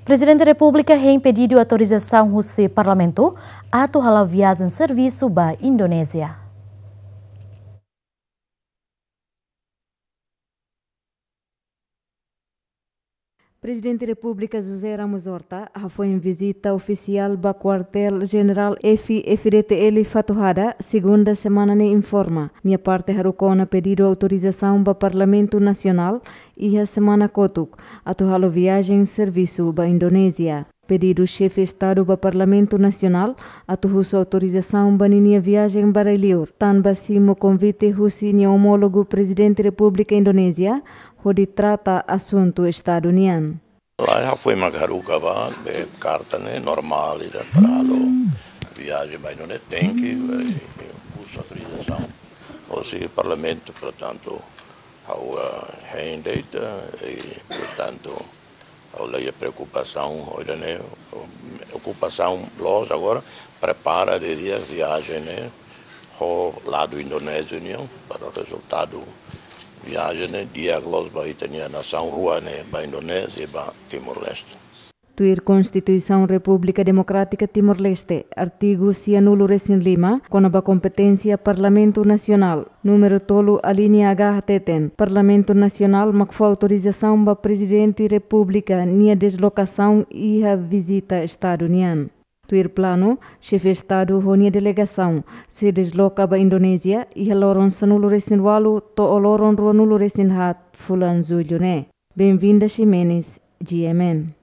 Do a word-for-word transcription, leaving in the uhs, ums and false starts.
Prezidente Repúblika hein pedidu autorizasaun husi Parlamentu atu hala'o viajen servisu ba Indonézia. Prezidente Repúblika José Ramos Horta hafoin vizita ofisiál ba Kuartél Jenerál F-FDTL Fatuhada, segunda semana ne'e, informa nia parte haruka ona pedidu autorizasaun ba Parlamentu Nasionál iha semana kotuk atu halo viajen servisu ba Indonézia. Pedidu Xefe Estadu ba Parlamentu Nasionál atu husu autorizasaun ba ninia viajen ba rai-liur, tanba simu konvite husi nia omólogu Prezidente Repúblika Indonézia hodi trata asuntu Estadu nian. Lae, hafoin mak haruka ba be karta ne'e normál ida para halo viajen ba Indonézia tenke, eh, husu autorizasaun hosi Parlamentu, portantu, ha'u, eh, hein de'it, eh, i, portantu, ha'u la iha preokupasaun, oida ne'e, okupasaun loos agora, prepara didi'ak viajen ne'e, ho ladu Indonézia nian, para rezultadu viajen ne'e di'ak loos ba ita-nia nasaun rua ne'e, ba Indonézia, ba Timor-Leste. Tuir Konstituisaun Repúblika Demokrátika Timor-Leste, artigu sianulu-resin-lima, kona-ba kompeténsia Parlamentu Nasionál, númeru tolu, alínea H, hateten, Parlamentu Nasionál mak fó autorizasaun ba Prezidente Repúblika nia deslokasaun iha vizita Estadu nian. Tuir planu, Xefe Estadu ho nia delegasaun sei desloka ba Indonézia iha loron sanulu-resin-ualu to'o loron ruanulu-resin-haat fulan Jullu ne'e. Benvinda Ximenes, G M N.